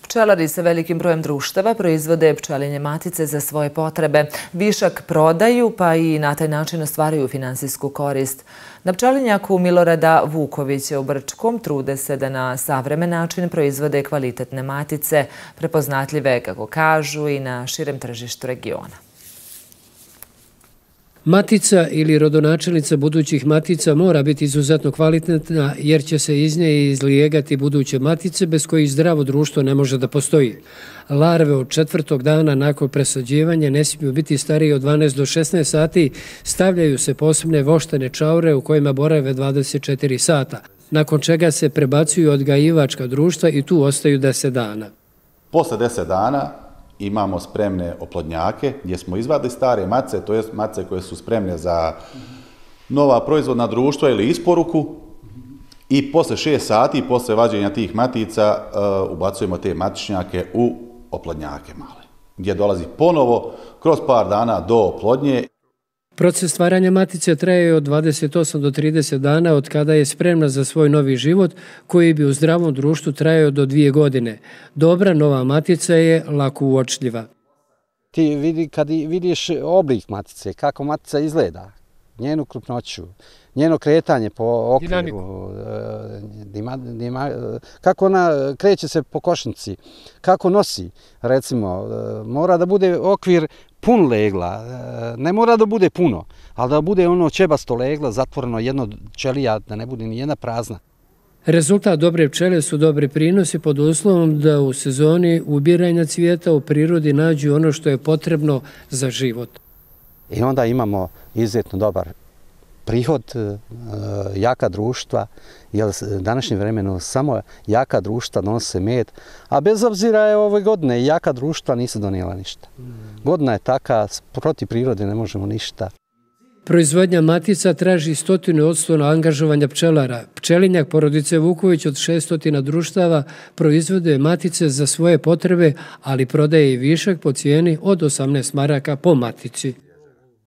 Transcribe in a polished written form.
Pčelari sa velikim brojem društava proizvode pčelinje matice za svoje potrebe. Višak prodaju pa i na taj način ostvaruju finansijsku korist. Na pčelinjaku Milorada Vukovića u Brčkom trude se da na savremen način proizvode kvalitetne matice, prepoznatljive, kako kažu, i na širem tržištu regiona. Matica ili rodonačelnica budućih matica mora biti izuzetno kvalitetna jer će se iz nje izlijegati buduće matice bez kojih zdravo društvo ne može da postoji. Larve od 4. dana nakon presađivanja ne smiju biti starije od 12 do 16 sati, stavljaju se posebne voštane čaure u kojima borave 24 sata, nakon čega se prebacuju odgajivačka društva i tu ostaju 10 dana. Posle 10 dana imamo spremne oplodnjake gdje smo izvadili stare mace, to je mace koje su spremne za nova proizvodna društva ili isporuku, i posle 6 sati, posle vađenja tih matica, ubacujemo te matičnjake u oplodnjake male, gdje dolazi ponovo kroz par dana do oplodnje. Proces stvaranja matice traje od 28 do 30 dana od kada je spremna za svoj novi život, koji bi u zdravom društvu trajao do 2 godine. Dobra nova matica je lako uočljiva. Kad vidiš oblik matice, kako matica izgleda, njenu krupnoću, njeno kretanje po okviru, kako ona kreće se po košnici, kako nosi, recimo, mora da bude okvir pun legla, ne mora da bude puno, ali da bude ono ćebasto legla, zatvoreno jedno ćelija, da ne bude ni jedna prazna. Rezultat dobre pčele su dobri prinosi pod uslovom da u sezoni ubiranja cvijeta u prirodi nađu ono što je potrebno za život. I onda imamo izuzetno dobar prihod, jaka društva, jer u današnjem vremenu samo jaka društva donose med, a bez obzira je ove godine jaka društva nisu donijela ništa. Godina je taka, protiv prirode ne možemo ništa. Proizvodnja matica traži 100% angažovanja pčelara. Pčelinjak porodice Vuković od 600 društava proizvode matice za svoje potrebe, ali prodaje i višak po cijeni od 18 maraka po matici.